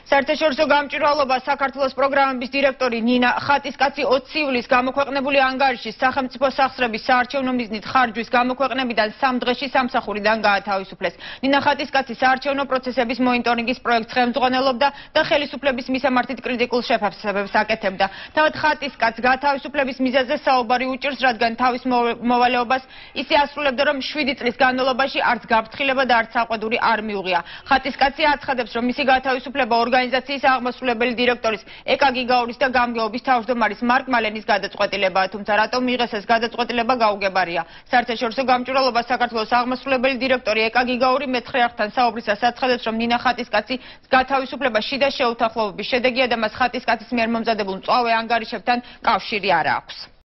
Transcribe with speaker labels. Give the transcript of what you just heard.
Speaker 1: საერთაშორისო გამჭვირვალობა საქართველოს პროგრამების დირექტორი ნინა ხატისკაცი 20 ივლისს გამოქვეყნებული ანგარიშის სახელმწიფო სახსრების საარჩევნო მიზნით ხარჯვის გამოქვეყნებიდან 3 დღეში სამსახურიდან გაათავისუფლეს. ნინა ხატისკაცი საარჩევნო პროცესების მონიტორინგის პროექტს ხელმძღვანელობდა და ხელისუფლების მისამართით კრიტიკულ შეფასებებს აკეთებდა. თავად ხატისკაცს გათავისუფლების მიზეზზე საუბარი უჭირს, რადგან თავის მოვალეობას ისე ასრულებდა, რომ 7 წლის განმავლობაში არც გაფრთხილება და არც საყვედური არ მიუღია. ხატისკაცი აცხადებს, რომ მისი გათავისუფლება ორგანიზაციის აღმასრულებელი დირექტორის ეკა გიგაურის და გამგეობის თავმჯდომარის მარკ მალენის გადაწყვეტილებაა, თუმცა რატომ მიიღეს ეს გადაწყვეტილება გაუგებარია. საერთაშორისო გამჭვირვალობა საქართველოს აღმასრულებელი დირექტორი ეკა გიგაური მეცხრე არხთან საუბრისას აცხადებს, რომ ნინა ხატისკაცი გათავისუფლება შიდა შეუთანხმოების შედეგია და მას ხატისკაცის მიერ მომზადებულ მწვავე ანგარიშებთან კავშირი არ აქვს.